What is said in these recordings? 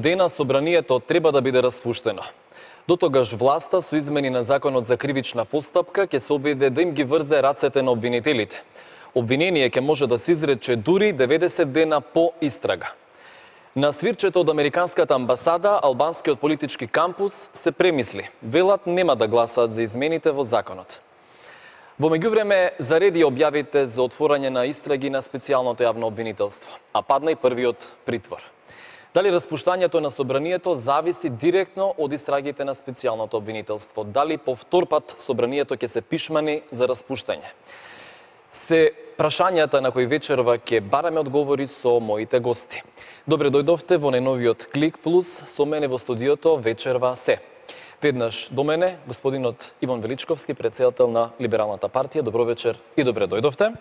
дена собранието треба да биде распуштено. Дотогаш власта со измени на законот за кривична постапка ќе се обиде да им ги врзе рацете на обвинителите. Обвинение ќе може да се изрече дури 90 дена по истрага. На свирчето од Американската амбасада, албанскиот политички кампус се премисли. Велат нема да гласаат за измените во законот. Во меѓувреме зареди објавите за отворање на истраги на специјалното јавно обвинителство, а падна и првиот притвор. Дали распуштањето на собранието зависи директно од истрагите на специјалното обвинителство? Дали повтор пат собранието ќе се пишмани за распуштање? Се прашањата на кои вечерва ќе бараме одговори со моите гости. Добре дојдовте во најновиот Клик Плюс, со мене во студиото вечерва се. Веднаш до мене, господинот Иван Величковски, претседател на Либералната партија. Добро вечер и добре дојдовте.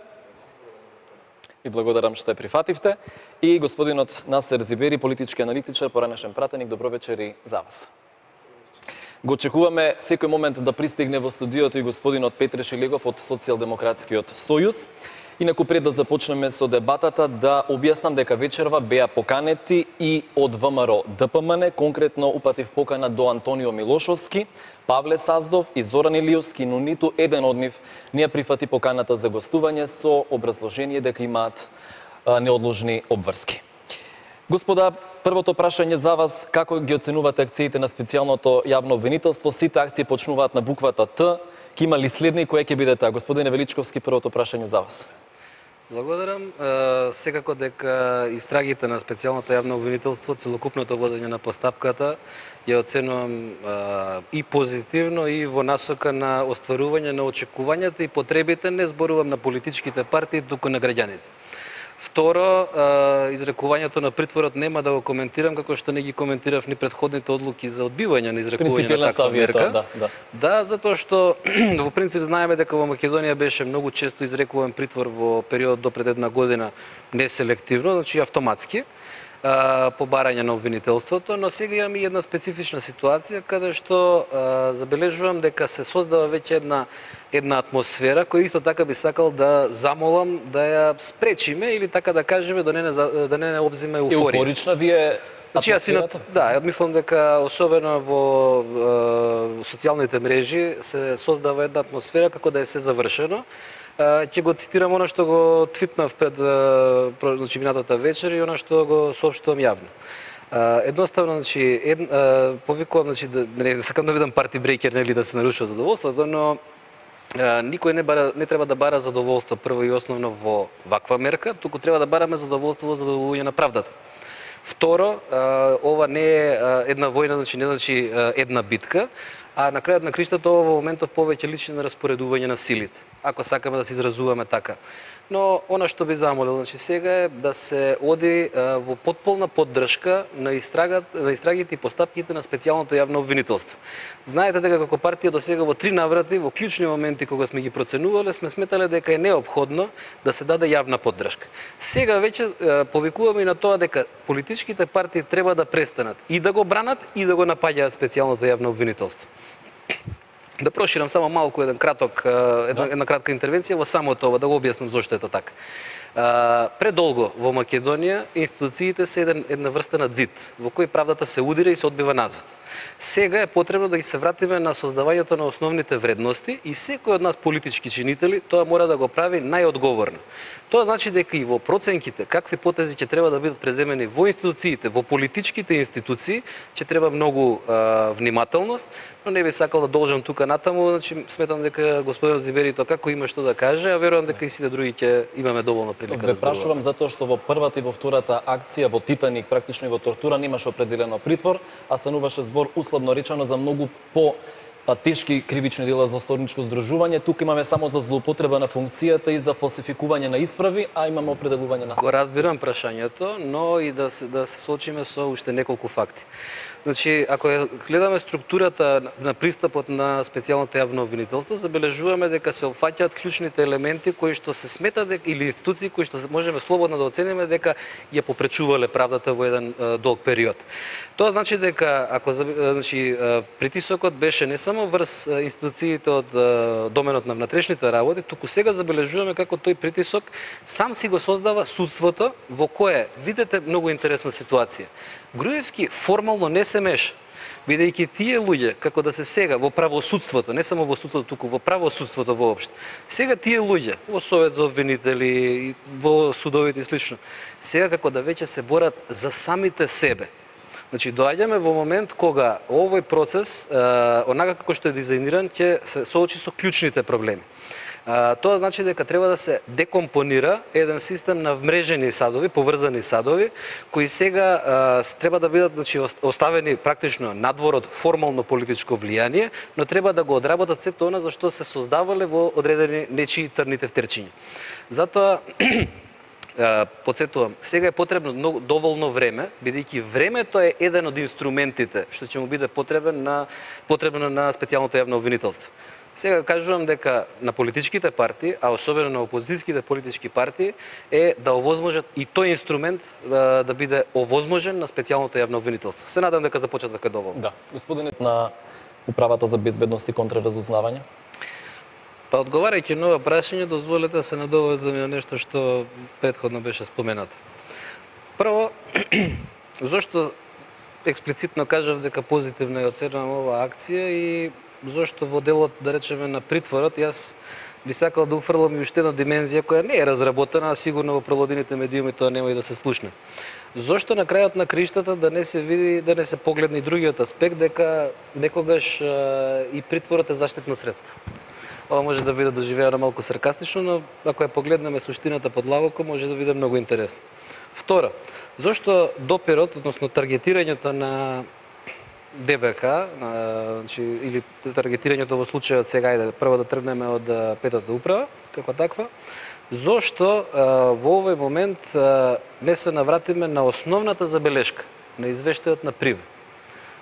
И благодарам што ја прифативте. И господинот Насер Зибери, политички аналитичар, поранешен пратеник. Добро вечер и за вас. Го очекуваме секој момент да пристигне во студиото и господинот Петре Шилегов од Социјалдемократскиот сојуз. Инаку пред да започнеме со дебатата, да објаснам дека вечерва беа поканети и од ВМРО ДПМН, конкретно упатив покана до Антонио Милошовски, Павле Саздов и Зоран Илиевски, но ниту еден од нив не ја прифати поканата за гостување со образложение дека имаат неодложни обврски. Господа, првото прашање за вас, како ги оценувате акциите на специјалното јавно обвинителство? Сите акции почнуваат на буквата Т. Ке има ли следни, која ќе биде таа? Господине Величковски, првото прашање за вас. Благодарам. Секако дека истрагите на специјалното јавно обвинителство, целокупното водење на постапката, ја оценувам и позитивно и во насока на остварување на очекувањата и потребите, не зборувам на политичките партии, туку на граѓаните. Второ, изрекувањето на притворот нема да го коментирам, како што не ги коментирав ни предходните одлуки за одбивање на изрекување на таква мерка. Да, затоа што во принцип знаеме дека во Македонија беше многу често изрекуван притвор во период до пред една година неселективно, значи автоматски, по барање на обвинителството, но сега имаме една специфична ситуација каде што забележувам дека се создава веќе една атмосфера која исто така би сакал да замолам да ја спречиме или така да кажеме да не обзиме еуфорија. Еуфорична ви е атмосферата? Да, мислам дека особено во социјалните мрежи се создава една атмосфера како да е се завршено. Ќе го цитирам она што го твитнав пред минатата вечер и она што го соопштувам јавно. Едноставно, повикувам, не сакам да бидам парти брейкер, нели да се нарушува задоволството, но никој не треба да бара задоволство прво и основно во ваква мерка, туку треба да бараме задоволство во задоволување на правдата. Второ, ова не е една војна, не значи една битка, а на крајот на криштата ова во моментов повеќе личи на распоредување на силите, ако сакаме да се изразуваме така. Но она што би замолил сега е да се оди во потполна поддршка на истрагите и постапките на специјалното јавно обвинителство. Знаете дека како партија до сега во 3 наврати, во клучни моменти кога сме ги проценувале, сме сметале дека е неопходно да се даде јавна поддршка. Сега веќе повикуваме и на тоа дека политичките партии треба да престанат и да го бранат и да го напаѓаат специјалното јавно обвинителство. Да проширам само малку една кратка интервенција во самото ова, да го објаснам зошто е тоа така. Предолго во Македонија институциите се една врста на ѕид, во кој правдата се удира и се одбива назад. Сега е потребно да ги се вратиме на создавањето на основните вредности и секој од нас политички чинители тоа мора да го прави најодговорно. Тоа значи дека и во проценките какви потези ќе треба да бидат преземени во институциите, во политичките институции, ќе треба многу внимателност, но не би сакал да должам тука натаму, сметам дека господинот Зибери тоа како има што да каже, а верувам дека и сите други ќе имаме доволно прилика да зборуваме. Ве прашувам затоа што во првата и во втората акција во Титаник, практично и во тортура, немаше определено притвор, а стануваше збор условно речено за многу тешки кривични дела за сторничко здружување. Тука имаме само за злоупотреба на функцијата и за фалсификување на исправи, а имаме определување на... Го разбирам прашањето, но и да се соочиме со уште неколку факти. Значи, ако гледаме структурата на пристапот на специјалното јавно обвинителство, забележуваме дека се опфаќаат клучните елементи кои што се сметат или институции кои што можеме слободно да оцениме дека ја попречувале правдата во еден долг период. Тоа значи дека ако значи притисокот беше не само врз институциите од доменот на внатрешните работи, туку сега забележуваме како тој притисок сам си го создава судството, во кое видите многу интересна ситуација. Груевски формално не се меша, бидејќи тие луѓе, како да се сега во правосудството, не само во судството, туку во правосудството воопшто. Сега тие луѓе во Совет за обвинители, во судовите и слично, сега како да веќе се борат за самите себе. Значи, доаѓаме во момент кога овој процес, онака како што е дизајниран, ќе се соочи со клучните проблеми. Тоа значи дека треба да се декомпонира еден систем на вмрежени садови, поврзани садови, кои сега треба да бидат, значи, оставени практично надвор од формално политичко влијание, но треба да го одработат сето она за што се создавале во одредени нечии црни тефтерчиња. Затоа потсетувам, сега е потребно доволно време, бидејќи времето е еден од инструментите што ќе му биде потребно на специјалното јавно обвинителство. Сега кажувам дека на политичките партии, а особено на опозицијските политички партии, е да овозможат и тој инструмент да биде овозможен на специјалното јавно обвинителство. Се надам дека започнат дека е доволно. Да, господинот на Управата за безбедност и контраразузнавање. Па одговарајќи на ова прашање, дозволете да се надоврзам на нешто што претходно беше споменато. Прво, зошто експлицитно кажав дека позитивно ја оценувам оваа акција и зошто во делот, да речеме, на притворот, јас би сакал да уфрлам и уште една димензија која не е разработена, а сигурно во прелодените медиуми тоа нема и да се слушне. Зошто на крајот на криштата да не се види, да не се погледне и другиот аспект, дека некогаш и притворот е заштитно средство. Ова може да биде доживеано малку саркастично, но ако ја погледнеме суштината под лавоко, може да биде многу интересно. Второ, зошто допирот, односно таргетирањето на ДБК, значи, или таргетирањето во случајот сега, ајде, прво да тргнеме од петата управа, како таква, зошто во овој момент не се навратиме на основната забелешка, на извештајот на ПРИБ,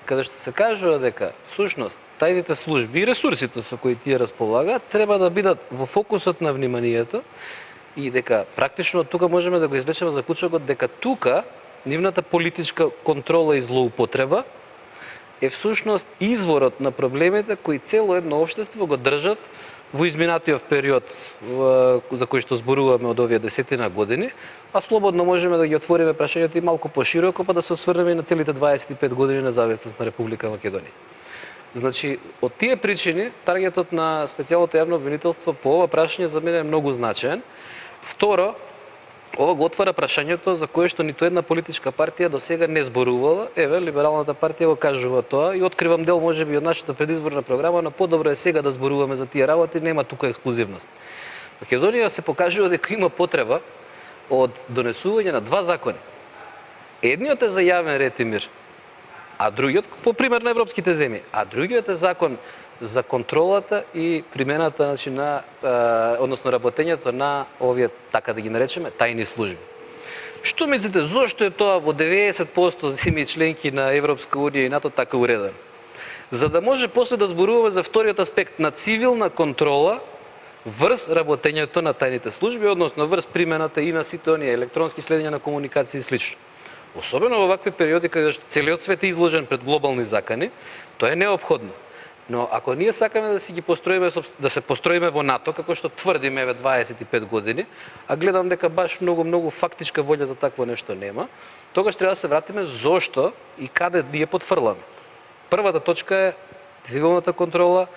каде што се кажува дека, всушност, тајните служби и ресурсите со кои тие располагаат треба да бидат во фокусот на вниманието и дека практично тука можеме да го извлечеме заклучокот дека тука нивната политичка контрола и злоупотреба е всушност изворот на проблемите кои цело едно општество го држат во изминатиот период за кој што зборуваме од овие десетина години, а слободно можеме да ги отвориме прашањето и малку пошироко, па да се осврнеме и на целите 25 години независност на Република Македонија. Значи, од тие причини, таргетот на специјалното јавно обвинителство по ова прашање за мене е многу значаен. Второ, ова го отвара прашањето за кое што ниту една политичка партија до сега не зборувала. Еве, Либералната партија го кажува тоа и откривам дел можеби од нашата предизборна програма, но подобро е сега да зборуваме за тие работи, нема тука ексклузивност. Македонија се покажува дека има потреба од донесување на два закони. Едниот е за јавен ред и мир, а другиот, по пример на европските земји, а другиот е закон за контролата и примената, значи, на, односно работењето на овие, така да ги наречеме, тајни служби. Што мислите, зошто е тоа во 90% земји членки на Европска унија и НАТО така уредено? За да може после да зборуваме за вториот аспект на цивилна контрола врз работењето на тајните служби, односно врз примената и на сите оние електронски следења на комуникација и слично. Особено во вакви периоди каде што целиот свет е изложен пред глобални закани, тоа е неопходно. Но ако ние сакаме да си ги построиме, да се построиме во НАТО, како што тврдиме еве 25 години, а гледам дека баш многу фактичка волја за такво нешто нема, тогаш треба да се вратиме зошто и каде ние потфрламе. Првата точка е цивилната контрола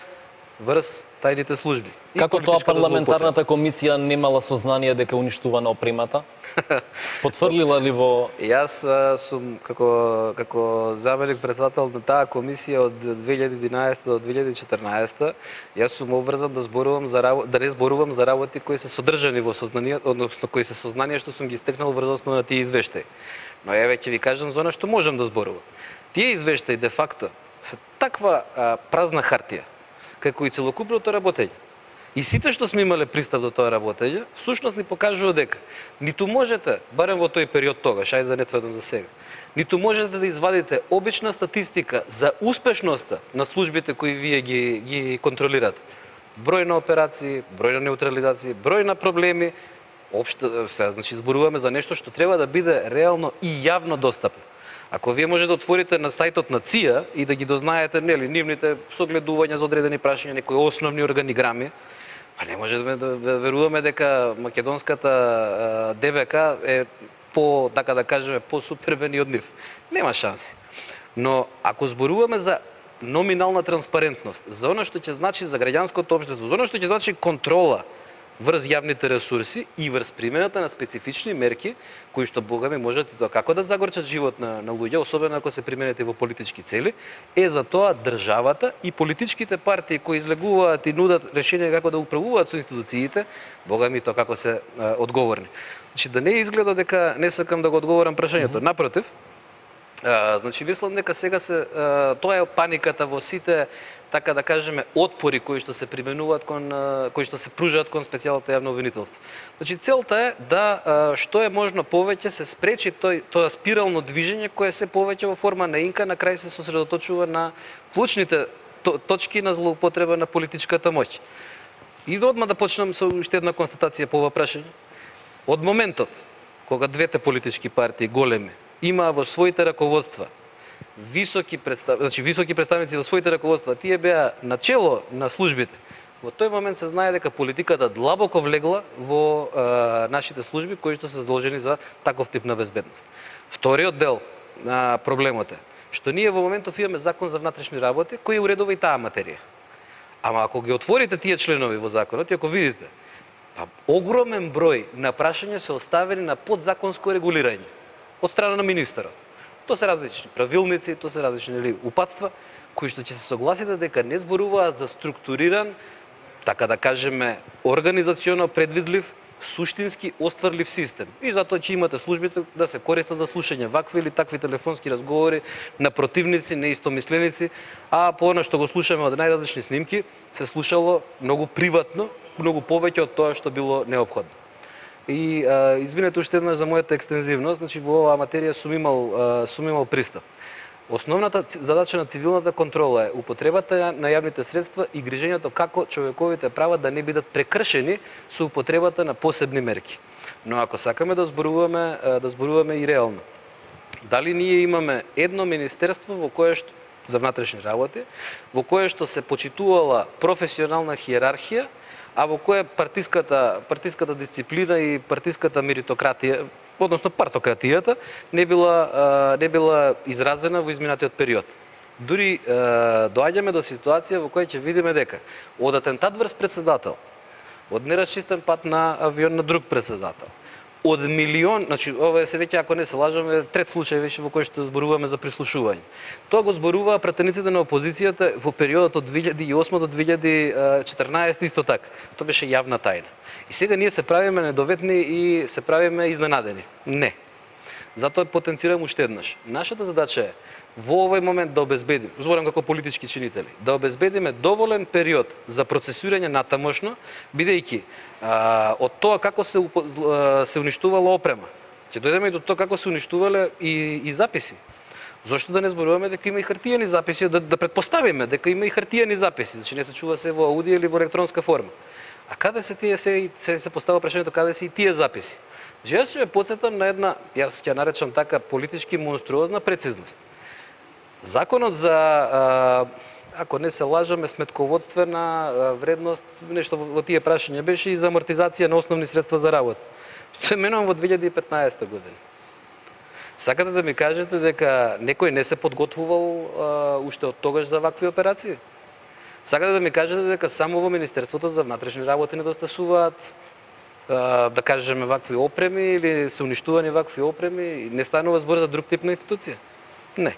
врз тајните служби. Како тоа парламентарната комисија немала сознание дека уништувана опремата? Потврлила ли во... Јас сум како заменик председател на таа комисија од 2011 до 2014, јас сум обврзан да зборувам да не зборувам за работи кои се содржани во сознание, односно кои се сознание што сум ги стекнал врз основа на тие извештаи. Но еве ќе ви кажам за она што можам да зборувам. Тие извештаи де факто се таква празна хартија, како и целокупното работење. И сите што сме имале пристап до тоа работење, всушност ни покажува дека ниту можете, барем во тој период тогаш, ајде да не тврдам за сега, ниту можете да извадите обична статистика за успешноста на службите кои вие ги контролирате. Број на операции, број на неутрализации, број на проблеми, општо, значи зборуваме за нешто што треба да биде реално и јавно достапно. Ако вие може да отворите на сајтот на ЦИА и да ги дознаете нивните согледувања за одредени прашања, некои основни органиграми, па не може да веруваме дека македонската ДБК е по, така да кажеме, по-супербен од нив. Нема шанси. Но ако зборуваме за номинална транспарентност, за оно што ќе значи за граѓанското општество, за оно што ќе значи контрола врз јавните ресурси и врз примената на специфични мерки кои што богами можат и тоа како да загорчат живот на луѓе, особено ако се применете во политички цели, е за тоа државата и политичките партии кои излегуваат и нудат решение како да управуваат со институциите, богами тоа како се одговорни. Значи да не изгледа дека не сакам да го одговорам прашањето, напротив, значи мислам дека сега тоа е паниката во сите, така да кажеме, отпори кои што се применуваат кои што се пружаат кон специјалното јавно обвинителство. Значи целта е да што е можно повеќе се спречи тоа спирално движење кое се повеќе во форма на инка, на крај се сосредоточува на клучните точки на злоупотреба на политичката моќ. И одма да почнам со уште една констатација по ова прашање. Од моментот кога двете политички партии големи имаа во своите раководства високи представници во своите раководства, тие беа начело на службите. Во тој момент се знае дека политиката длабоко влегла во нашите служби кои што се задолжени за таков тип на безбедност. Вториот дел на проблемот е што ние во моментов имаме закон за внатрешни работи кој уредува и таа материја. Ама ако ги отворите тие членови во законот и ако видите, па огромен број на прашања се оставени на подзаконско регулирање од страна на министерот. Тоа се различни правилници, тоа се различни упатства, кои што ќе се согласите дека не зборуваат за структуриран, така да кажеме, организационо предвидлив, суштински остварлив систем. И затоа ќе имате службите да се користат за слушање вакви или такви телефонски разговори на противници, неистомисленици, а по она што го слушаме од најразлични снимки, се слушало многу приватно, многу повеќе од тоа што било неопходно. И извинете уште еднаш за мојата екстензивност, значи во оваа материја сум имал пристап. Основната задача на цивилната контрола е употребата на јавните средства и грижењето како човековите права да не бидат прекршени со употребата на посебни мерки. Но ако сакаме да зборуваме и реално, дали ние имаме едно министерство во кое што за внатрешни работи, во кое што се почитувала професионална хиерархија, а во кое партиската дисциплина и партиската меритократија, односно партократијата, не била изразена во изминатиот период. Дури доаѓаме до ситуација во која ќе видиме дека од атентат врз председател, од нерасчистен пат на авион на друг председател, од милион, значи ова се веќе ако не се лажаме, трет случај веќе во кој што зборуваме за прислушување. Тоа го зборуваа пратениците на опозицијата во периодот од 2008 до 2014 исто така. Тоа беше јавна тајна. И сега ние се правиме недоветни и се правиме изненадени. Не. Затоа потенцирам уште еднаш. Нашата задача е во овој момент да обезбедиме, зборам како политички чинители, да обезбедиме доволен период за процесирање натамошно, бидејќи од тоа како се уништувала опрема, ќе дојдеме и до тоа како се уништувале и записи. Зошто да не зборуваме дека има и хартиени записи, да предпоставиме дека има и хартиени записи, значи не се чува се во аудио или во електронска форма. А каде се тие се постава прашањето каде се и тие записи? Јас ќе ве потсетам на една, јас ќе наречам така политички монструозна прецизност. Законот за, ако не се лажаме, сметководствена вредност, нешто во тие прашања беше и за амортизација на основни средства за работа. Што менувам во 2015 година. Сакате да ми кажете дека некој не се подготвувал уште од тогаш за вакви операции? Сакате да ми кажете дека само во Министерството за внатрешни работи недостасуваат, да кажеме, вакви опреми или се уништувани вакви опреми, не станува збор за друг тип на институција? Не.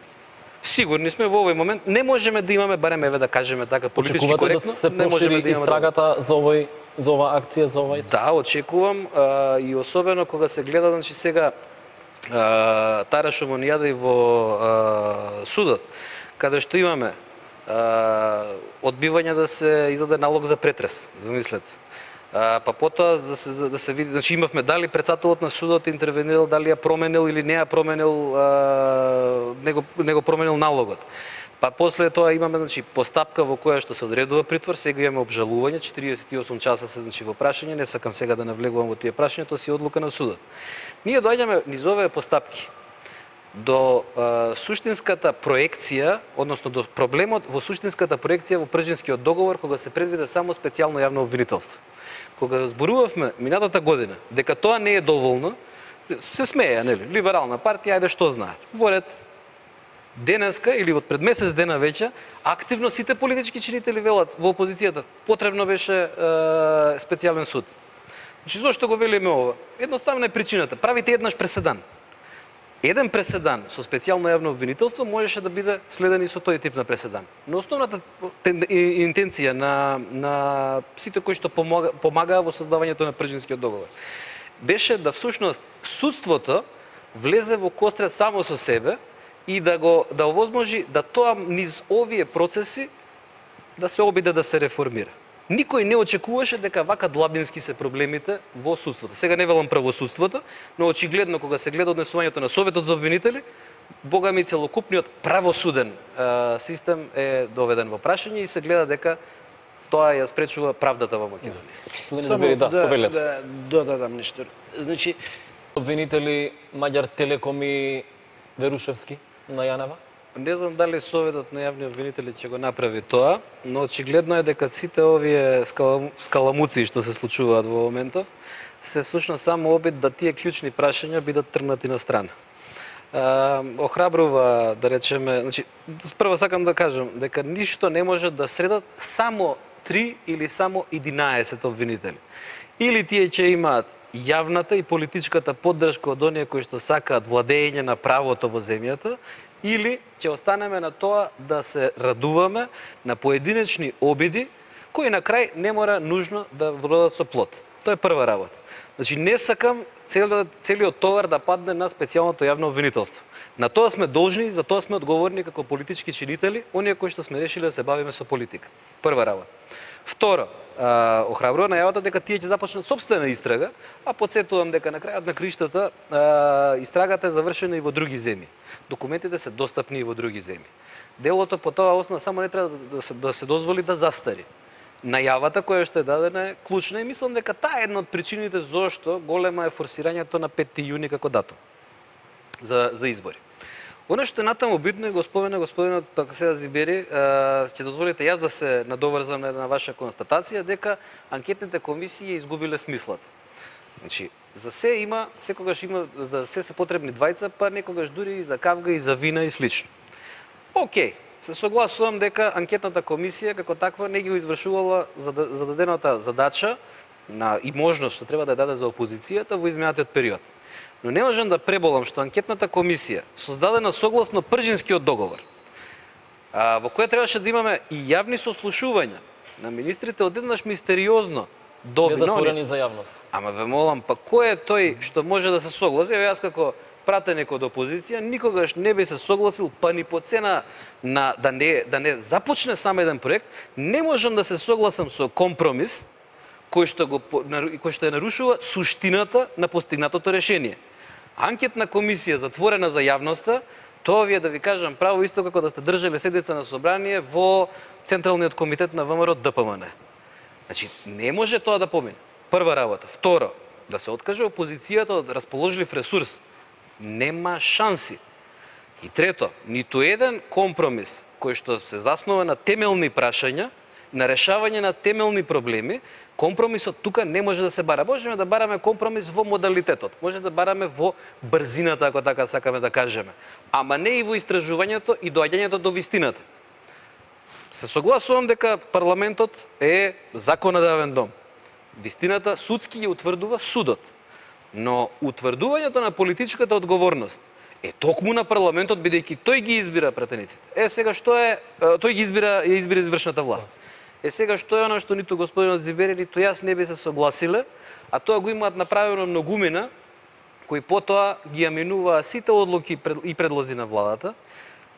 Сигурни сме во овој момент, не можеме да имаме, барем еве да кажеме така политички коректно, да се прошири истрагата за оваа акција, за ова истрага? Да, очекувам и особено кога се гледа, значи сега Тара Шумонијада и во судот, каде што имаме одбивање да се издаде налог за претрес, замислете. Па потоа да се види, значи имавме дали председателот на судот интервенирал, дали ја променил или не ја променил, не го променил налогот. Па после тоа имаме, значи, постапка во која што се одредува притвор, сега имаме обжалување, 48 часа се, значи, во прашање, не сакам сега да навлегувам во тие прашања, тоа си одлука на судот. Ние доаѓаме низ овие постапки до суштинската проекција, односно до проблемот во суштинската проекција во Пржинскиот договор, кога се предвиде само специјално јавно обвинителство. Кога зборувавме минатата година дека тоа не е доволно, се смеја, нели? Либерална партија, ајде што знаат. Воред денеска или од пред месец дена веќе, активно сите политички чинители велат во опозицијата, потребно беше специјален суд. Значи, зошто го велиме ова? Едноставна е причината. Правите еднаш преседан. Еден преседан со специјално јавно обвинителство можеше да биде следен и со тој тип на преседан. Но основната интенција на сите кои што помагаа во создавањето на Пржинскиот договор беше да всушност судството влезе во кострет само со себе и да овозможи да тоа низ овие процеси да се обиде да се реформира. Никој не очекуваше дека вака длабински се проблемите во судството. Сега не велам правосудството, но очигледно кога се гледа однесувањето на Советот за обвинители, бога ми целокупниот правосуден систем е доведен во прашање и се гледа дека тоа ја спречува правдата во Македонија. Само да додадам нешто. Значи, обвинители Маѓар Телеком и Верушевски на Јанева? Не знам дали Советот на јавни обвинители ќе го направи тоа, но очигледно е дека сите овие скаламуци што се случуваат во моментов се всушност само обид да тие клучни прашања бидат тргнати на страна. Охрабрува, да речеме, значи прво сакам да кажам дека ништо не може да средат само 3 или само 11 обвинители. Или тие ќе имаат јавната и политичката поддршка од оние кои што сакаат владење на правото во земјата, или ќе останеме на тоа да се радуваме на поединечни обиди кои на крај не мора нужно да вродат со плод. Тоа е прва работа. Значи не сакам целиот товар да падне на специјалното јавно обвинителство. На тоа сме должни и за тоа сме одговорни како политички чинители, оние кои што сме решили да се бавиме со политика. Прва работа. Второ, охрабрува најавата дека тие ќе започнат собствена истрага, а потсетувам дека на крајот на криштата истрагата е завршена и во други земји. Документите се достапни и во други земји. Делото по тоа основа само не треба да се дозволи да застари. Најавата која што е дадена е клучна и мислам дека таа е една од причините зошто голема е форсирањето на 5 јуни како датум за избори. Оно што е натаму битно е, господинот пак сега Зибери, ќе дозволите јас да се надоврзам на една ваша констатација дека анкетните комисии изгубиле смислата. Значи, за се има, секогаш има, за се се потребни двајца, па некогаш дури и за кавга и за вина и слично. Океј, се согласувам дека анкетната комисија како таква не ги извршувала зададената задача и можност што треба да ја даде за опозицијата во изминатиот период. Но не можам да преболам што анкетната комисија, создадена согласно Пржинскиот договор, во која требаше да имаме и јавни сослушувања на министрите, одеднаш мистериозно доби. Незатворени за јавност. Ама ве молам, па кој е тој што може да се согласи? Еве јас како пратеник од опозиција никогаш не би се согласил, па ни по цена на да не започне сам еден проект, не можам да се согласам со компромис кој што ја нарушува суштината на постигнатото решение. Анкетна комисија затворена за јавноста, тоа ви е да ви кажам право исто како да сте држале седница на собрание во Централниот комитет на ВМРО ДПМН. Значи, не може тоа да помине. Прва работа. Второ, да се откаже опозицијата од расположлив ресурс. Нема шанси. И трето, ниту еден компромис кој што се заснова на темелни прашања, на решавање на темелни проблеми, компромисот тука не може да се бара. Можеме да бараме компромис во модалитетот, може да бараме во брзината, ако така сакаме да кажеме, ама не и во истражувањето и доаѓањето до вистината. Се согласувам дека парламентот е законодавен дом. Вистината судски ја утврдува судот. Но утврдувањето на политичката одговорност е токму на парламентот, бидејќи тој ги избира пратениците. Сега што е, тој ги избира извршната власт. Сега што е оно што ниту господинот Зибери, ниту јас не би се согласиле, а тоа го имаат направено многумина, кои потоа ги аминуваа сите одлуки и предлози на владата.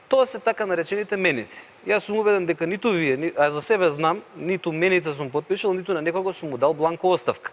Тоа се така наречените меници. Јас сум убеден дека ниту вие, а за себе знам, ниту меница сум потпишал, ниту на некого сум му дал бланко оставка.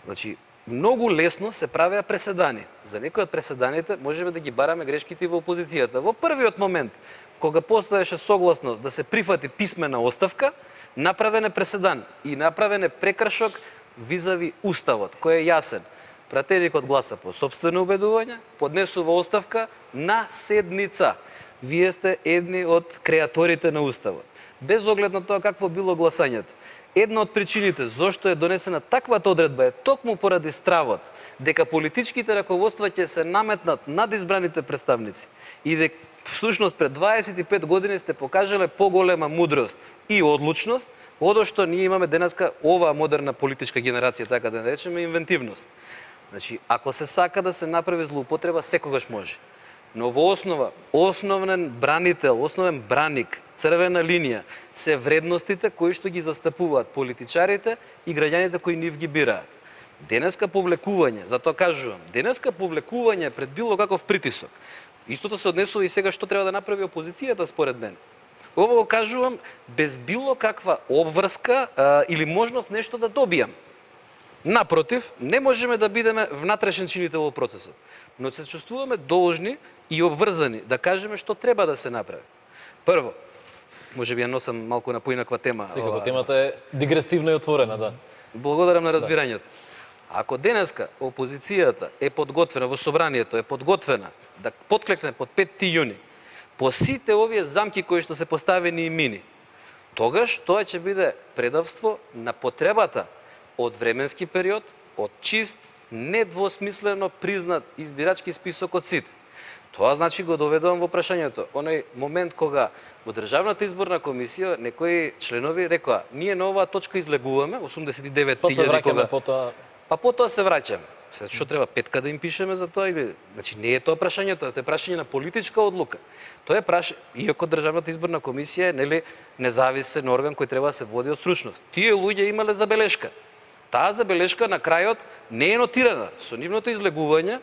Значи, многу лесно се правеа преседани. За некои од преседаните можеме да ги бараме грешките и во опозицијата. Во првиот момент, кога постоеше согласност да се прифати писмена оставка, направен е преседан и направен е прекршок визави Уставот, кој е јасен. Пратеникот гласа по сопствено убедување, поднесува оставка на седница. Вие сте едни од креаторите на Уставот. Без оглед на тоа какво било гласањето. Една од причините зошто е донесена таквата одредба е токму поради стравот дека политичките раководства ќе се наметнат над избраните представници и дека всушност пред 25 години сте покажале поголема мудрост и одлучност, одошто ние имаме денеска оваа модерна политичка генерација, така да наречеме, инвентивност. Значи, ако се сака да се направи злоупотреба, секогаш може. Но во основа, основен бранител, основен браник, црвена линија, се вредностите кои што ги застапуваат политичарите и граѓаните кои нив ги бираат. Денеска повлекување, затоа кажувам, денеска повлекување пред било каков притисок. Истото се однесува и сега што треба да направи опозицијата според мен. Ово го кажувам без било каква обврска или можност нешто да добијам. Напротив, не можеме да бидеме внатрешен чинител во процесот, но се чувствуваме должни и обврзани да кажеме што треба да се направи. Прво, можеби ја носам малку на поинаква тема. Секако темата е дигресивна и отворена, да. Благодарам на разбирањето. Ако денеска опозицијата е подготвена, во собранието е подготвена да подклекне под 5 јуни по сите овие замки кои што се поставени и мини, тогаш тоа ќе биде предавство на потребата од временски период, од чист, недвосмислено признат избирачки список од сите. Тоа значи го доведувам во прашањето. Оној момент кога во Државната изборна комисија некои членови рекоа: ние на оваа точка излегуваме 89.000 кога. Па потоа се враќаме. Што треба петка да им пишеме за тоа или значи не е тоа прашањето, тоа е прашање на политичка одлука. Тоа е иако Државната изборна комисија е нели независен орган кој треба да се води од стручност. Тие луѓе имале забелешка. Таа забелешка на крајот не е нотирана со нивното излегување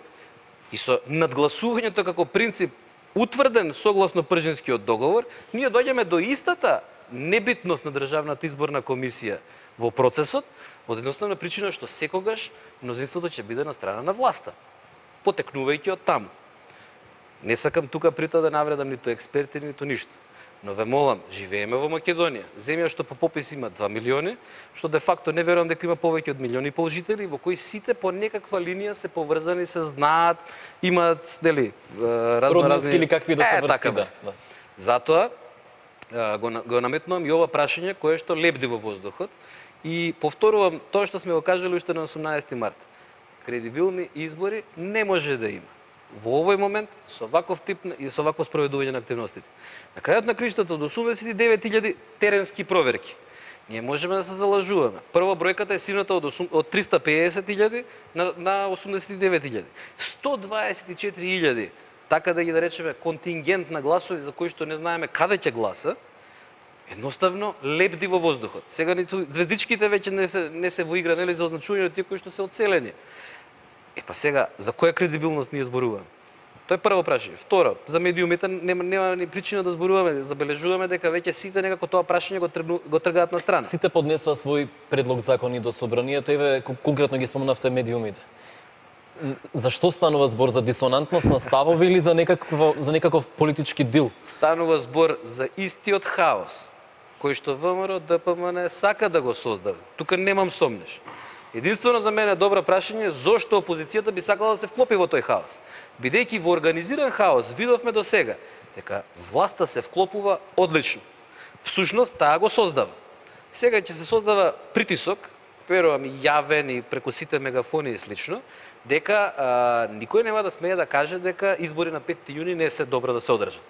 и со надгласувањето како принцип утврден согласно Пржинскиот договор, ние доѓаме до истата небитност на Државната изборна комисија во процесот, од едноставна причина што секогаш мнозинството ќе биде на страна на власта, потекнувајќи од таму. Не сакам тука при тоа да навредам ниту експерти, ниту ништо. Но ве молам, живееме во Македонија, земја што по попис има 2 милиони, што де факто не верувам дека има повеќе од 1,5 милиони жители, во кои сите по некаква линија се поврзани, се знаат, имаат, нели, разноразни или какви да се врски, да. Затоа го наметнувам и ова прашање кое што лебди во воздухот и повторувам тоа што сме го кажали уште на 18 март. Кредибилни избори не може да има во овој момент со ваков тип и со вакво спроведување на активностите. На крајот на криштата од 89.000 теренски проверки. Ние можеме да се залажуваме. Прво бројката е сивната од 350.000 на 89.000. 124.000, така да ги наречеме контингент на гласови за кои што не знаеме каде ќе гласа, едноставно лебди во воздухот. Сега ниту звездичките веќе не се во игра, нели, за означување од тие кои што се одселени. Па сега, за која кредибилност ние зборуваме? Тоа е прво прашање. Второ, за медиумите нема ни причина да зборуваме, забележуваме дека веќе сите некако тоа прашање го тргаат на страна. Сите поднесоа свој предлог закони до собранието, еве конкретно ги спомнавте медиумите. Зашто станува збор, за дисонантност на ставови или за некаков политички дил? Станува збор за истиот хаос кој што ВМРО, ДПМН сака да го создаде. Тука немам сомнеш. Единствено за мене добро прашање зошто опозицијата би сакала да се вклопи во тој хаос. Бидејќи во организиран хаос видовме до сега дека власта се вклопува одлично. Всушност таа го создава. Сега ќе се создава притисок, верувам и јавен и преку сите мегафони и слично, дека никој нема да смее да каже дека избори на 5 јуни не се добро да се одржат.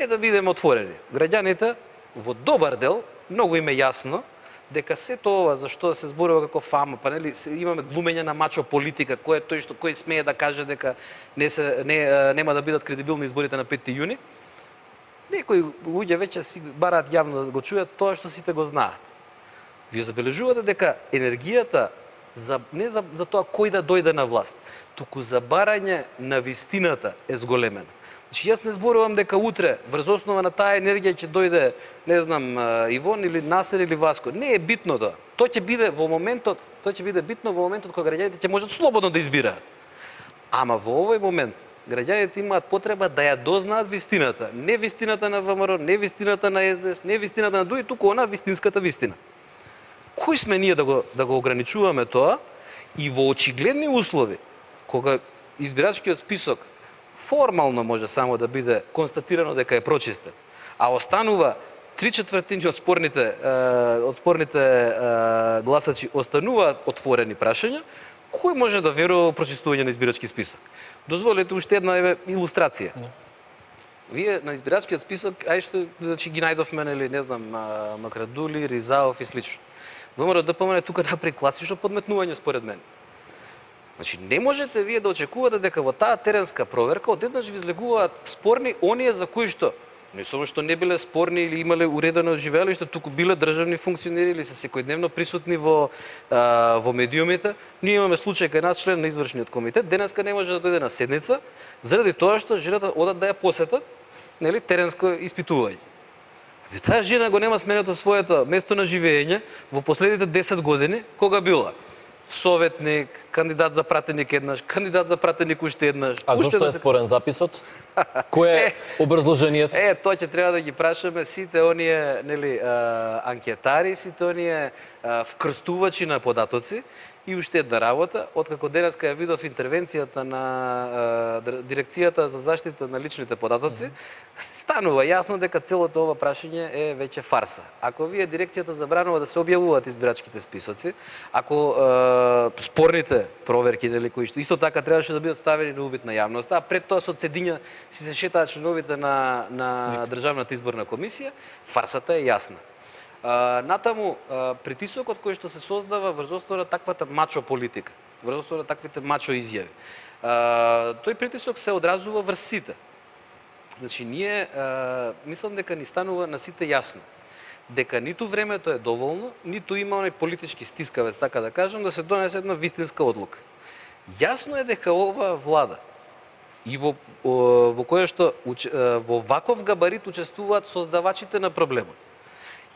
Да бидеме отворени. Граѓаните во добар дел многу им е јасно дека сето ова за што се зборува како фама, па нели имаме глумење на мачо политика, кој е тој што кој смее да каже дека нема да бидат кредибилни изборите на 5 јуни. Некои луѓе веќе си бараат јавно да го чујат тоа што сите го знаат. Вие забележувате дека енергијата не за тоа кој да дојде на власт, туку за барање на вистината е зголемена. Значи, јас не зборувам дека утре врз основа на таа енергија ќе дојде, не знам, Ивон или Насер или Васко. Не е битно тоа. Тоа ќе биде битно во моментот кога граѓаните ќе можат слободно да избираат. Ама во овој момент граѓаните имаат потреба да ја дознаат вистината, не вистината на ВМРО, не вистината на СДС, не вистината на други, туку она вистинската вистина. Кои сме ние да го ограничуваме тоа и во очигледни услови кога избирачкиот список формално може само да биде констатирано дека е прочистен, а останува 3/4 од спорните гласачи остануваат отворени прашања, кој може да верува во прочистување на избирачки список? Дозволете уште една илустрација. Вие на избирачкиот список, што значи ги најдовме, нели, не знам, Макрадули, Ризаов и слично. ВМРО ДПМН тука направи класично подметнување според мен. Значи не можете вие да очекувате дека во таа теренска проверка одеднаш ви излегуваат спорни оние за кои што не само што не биле спорни или имале уредено живеелиште, туку биле државни функционери или се секојдневно присутни во медиумите. Ние имаме случај кај нас член на извршниот комитет, денеска не може да дојде на седница заради тоа што жената одат да ја посетат, нели, теренско испитување. Таа жена го нема сменето своето место на живење во последните 10 години, кога била советник, кандидат за пратеник еднаш, кандидат за пратеник уште еднаш. А зошто е спорен записот? Кое е образложението? Тоа ќе треба да ги прашаме сите оние, нели, анкетари, сите оние вкрстувачи на податоци. И уште една работа, откако денеска ја видов интервенцијата на Дирекцијата за заштита на личните податоци, станува јасно дека целото ова прашање е веќе фарса. Ако вие Дирекцијата забранува да се објавуваат избирачките списоци, ако спорните проверки, нели, кои што исто така требаше да бидат ставени на увид на јавноста, а пред тоа со цедиња си се шетаат членовите на Државната изборна комисија, фарсата е јасна. Натаму, притисокот кој што се создава врз основа на таквата мачо политика, врз основа на таквите мачо изјави, тој притисок се одразува врз сите. Значи, ние мислам дека ни станува на сите јасно дека ниту времето е доволно, ниту има оној политички стискавец, така да кажам, да се донесе една вистинска одлука. Јасно е дека ова влада и во која што во ваков габарит учествуваат создавачите на проблемот.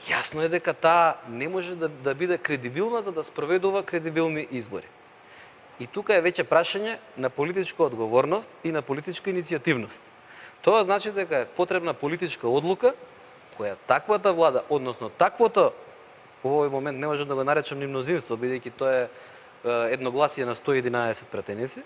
Јасно е дека таа не може да биде кредибилна за да спроведува кредибилни избори. И тука е веќе прашање на политичка одговорност и на политичка иницијативност. Тоа значи дека е потребна политичка одлука која таквата влада, односно таквото, во овој момент не можам да го наречам ни мнозинство, бидејќи тоа е едногласие на 111 пратеници,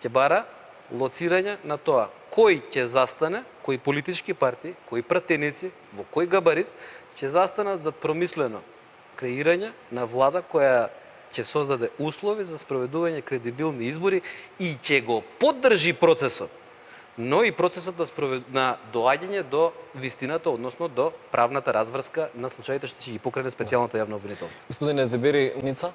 ќе бара лоцирање на тоа кој ќе застане, кои политички партии, кои пратеници, во кој габарит ќе застанат за промислено креирање на влада која ќе создаде услови за спроведување кредибилни избори и ќе го поддржи процесот, но и процесот на доаѓање до вистината, односно до правната разврска на случаите што ќе ги покрене специјалната јавна обвинителство. Господине Зебери, Ница?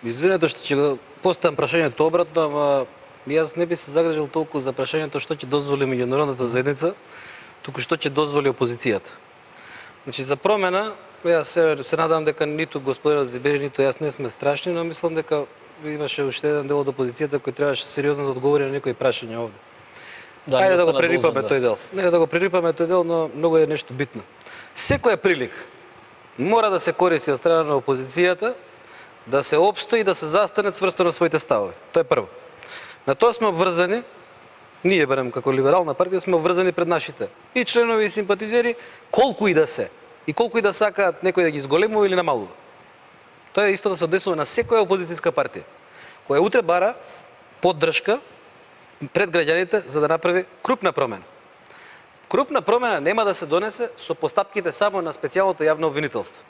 Извинете што ќе го поставам прашањето обратно, ама јас не би се загрижил толку за прашањето што ќе дозволи меѓународната заедница, туку што ќе дозволи опозицијата. Значи, за промена, јас се надам дека ниту господинот Зебери, ниту јас не сме страшни, но мислам дека имаше уште еден дел од опозицијата кој требаше сериозно да одговори на некои прашања овде. Ајде да го прерипаме тој дел. Не да го прерипаме тој дел, но многу е нешто битно. Секоја прилика мора да се користи од страна на опозицијата да се опстои и да се застане цврсто на своите ставови. Тоа е прво. На тоа сме обврзани, ние барем како либерална партија сме обврзани пред нашите и членови и симпатизери, колку и да се и колку и да сакаат некој да ги зголемува или намалува. Тоа е исто да се однесува на секоја опозицијска партија, која утре бара поддршка пред граѓаните за да направи крупна промена. Крупна промена нема да се донесе со постапките само на специјалното јавно обвинителство.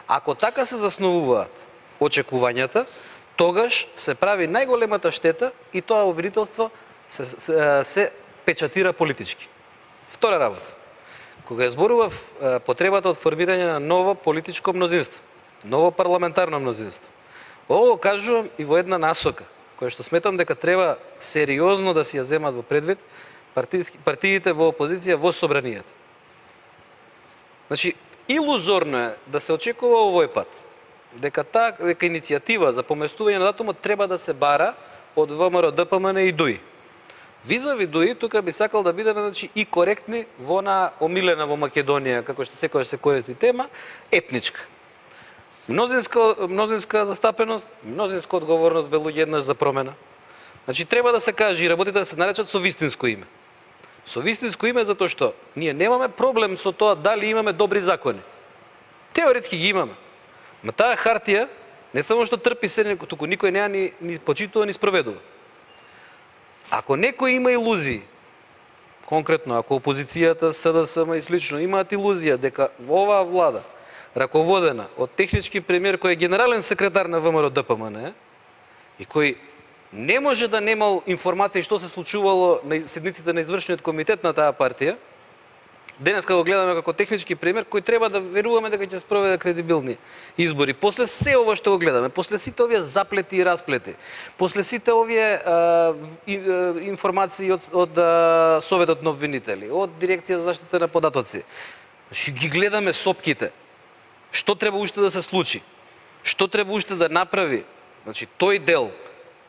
Ако така се засновуваат очекувањата, тогаш се прави најголемата штета и тоа обвинителство се печатира политички. Втора работа. Кога зборував потребата од формирање на ново политичко мнозинство, ново парламентарно мнозинство, ово кажувам и во една насока, која што сметам дека треба сериозно да си ја земат во предвид партиите во опозиција во собранието. Значи, илузорно е да се очекува овој пат дека иницијатива за поместување на датумот треба да се бара од ВМРО, ДПМН и ДУИ. Визави ДУИ, тука би сакал да бидеме, значи, и коректни во на омилена во Македонија, како што секојаш се користи тема, етничка. Мнозинска застапеност, мнозинска одговорност бе луѓе еднаш за промена. Значи, треба да се каже и работите да се наречат со вистинско име. Со вистинско име затоа што ние немаме проблем со тоа дали имаме добри закони. Теоретски ги имаме. Ма таа хартија не само што трпи се, туку никој неа ни почитува, ни спроведува. Ако некој има илузии, конкретно ако опозицијата, СДСМ и слично имаат илузија дека оваа влада, раководена од технички премиер кој е генерален секретар на ВМРО ДПМН и кој не може да немал информација што се случувало на седниците на извршниот комитет на таа партија, денеска го гледаме како технички премиер кој треба да веруваме дека ќе спроведе кредибилни избори. После се ова што го гледаме, после сите овие заплети и расплети, после сите овие информации од Советот на обвинители, од Дирекција за заштита на податоци, ги гледаме сопките. Што треба уште да се случи? Што треба уште да направи? Значи, тој дел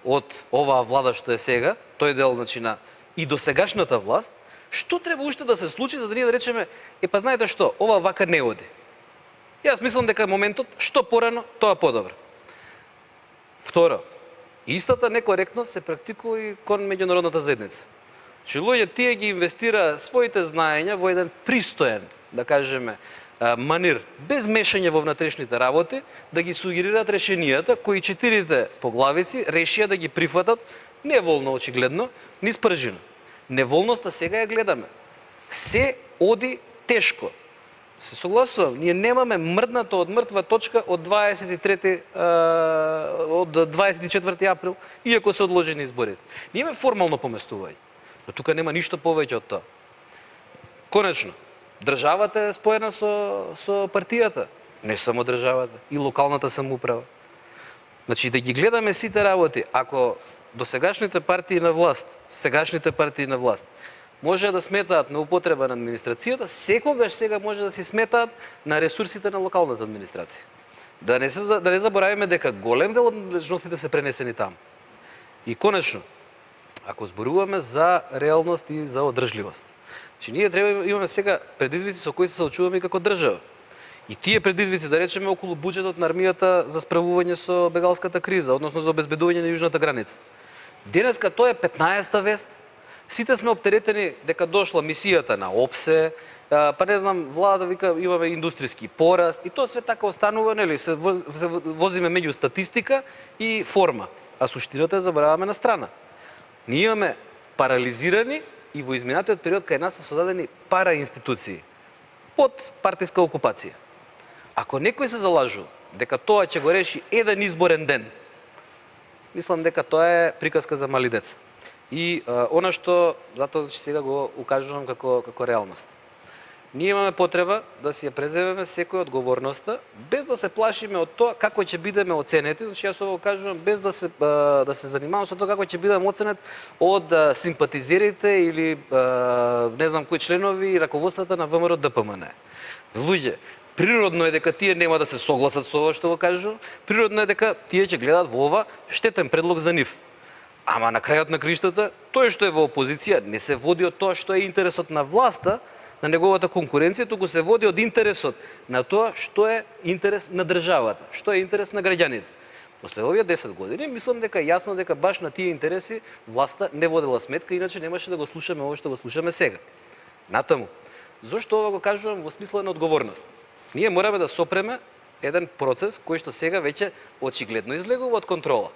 од оваа влада што е сега, тој дел на и досегашната власт, што треба уште да се случи за да ние да речеме, па знаете што, ова вака не оди. Јас мислам дека моментот што порано, тоа подобро. Второ, истата некоректност се практикува и кон меѓународната заедница. Че луѓе тие ги инвестира своите знаења во еден пристоен, да кажеме, манир, без мешање во внатрешните работи, да ги сугерираат решенијата кои четирите поглавици решија да ги прифатат неволно очигледно, низ пржина. Неволноста сега ја гледаме. Се оди тешко. Се согласувам, ние немаме мрднато од мртва точка од 24 април, иако се одложени изборите. Ние имаме формално поместување, но тука нема ништо повеќе од тоа. Конечно, државата е споена со партијата, не само државата, и локалната самоуправа. Значи, да ги гледаме сите работи, ако досегашните партии на власт, сегашните партии на власт, може да сметаат на употреба на администрацијата, секогаш сега може да си сметаат на ресурсите на локалната администрација. Да не заборавиме дека голем дел од надлежностите се пренесени таму. И конечно, ако зборуваме за реалност и за одржливост, че ние треба имаме сега предизвици со кои се соочуваме како држава. И тие предизвици, да речеме, околу буџетот на армијата за справување со бегалската криза, односно за обезбедување на јужната граница. Денеска тоа е 15-та вест. Сите сме оптеретени дека дошла мисијата на ОПСЕ, па не знам, владата вика имаме индустријски пораст и тоа све така останува, нели, се возиме меѓу статистика и форма, а суштината ја забораваме на страна. Ние имаме парализирани и во изминатиот период кај нас се создадени параинституции под партиска окупација. Ако некој се залажува дека тоа ќе го реши еден изборен ден, мислам дека тоа е приказка за мали деца. И она што затоа сега го укажувам како реалност. Ние имаме потреба да си ја преземеме секој одговорноста, без да се плашиме од тоа како ќе бидеме оценети. Значи јас ovo кажувам без да се занимавам со тоа како ќе бидеме оценет од симпатизерите или не знам кои членови и раководствата на ВМРО ДПМН. Луѓе, природно е дека тие нема да се согласат со ова што го кажувам, природно е дека тие ќе гледат во ова штетен предлог за нив. Ама на крајот на криштата, тој што е во опозиција не се води од тоа што е интересот на власта, на неговата конкуренција, туку се води од интересот на тоа што е интерес на државата, што е интерес на граѓаните. После овие 10 години, мислам дека е јасно дека баш на тие интереси власта не водела сметка, иначе немаше да го слушаме ова што го слушаме сега. Натаму, зошто ова го кажувам во смисла на одговорност? Ние мораме да сопреме еден процес кој што сега веќе очигледно излегува од контрола.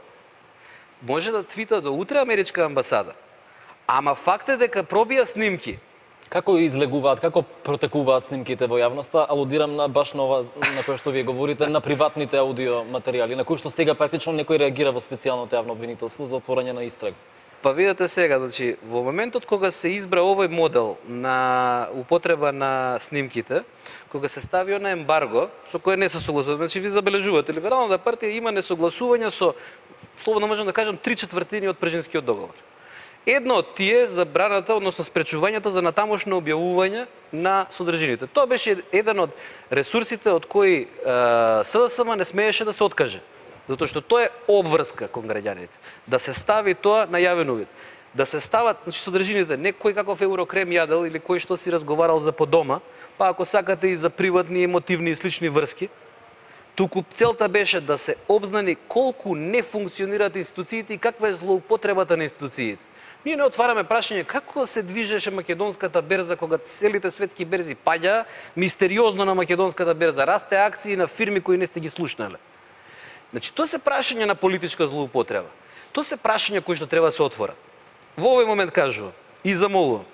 Може да твита до утре америчка амбасада, ама факт е дека пробија снимки. Како излегуваат, како протекуваат снимките во јавноста? Алудирам на баш на ова на кое што вие говорите, на приватните аудио материјали, на кои што сега практично некој реагира во специјалното јавно обвинителство за отворање на истрага. Па видете сега, значи, во моментот кога се избра овој модел на употреба на снимките, кога се стави на ембарго, со кое не се согласува, значи ви забележувате, Либералната партија има несогласувања со, слободно можам да кажам, 3/4 од Пржинскиот договор. Едно од тие е забраната, односно спречувањето за натамошно објавување на содржините. Тоа беше еден од ресурсите од кои СДСМ не смееше да се откаже. Затоа што тоа е обврска кон граѓаните. Да се стави тоа на јавен увид. Да се стават, значи, содржините, не кој каков еврокрем јадел или кој што си разговарал за подома, па ако сакате и за приватни, емотивни и слични врски, туку целта беше да се обзнани колку не функционираат институциите и каква е злоупотребата на институциите. Ние не отвараме прашање како се движеше македонската берза кога целите светски берзи паѓаа, мистериозно на македонската берза расте акции на фирми кои не сте ги слушнале. Значи, тоа се прашање на политичка злоупотреба. Тоа се прашања кои што треба да се отворат. во овој момент кажувам и замолувам,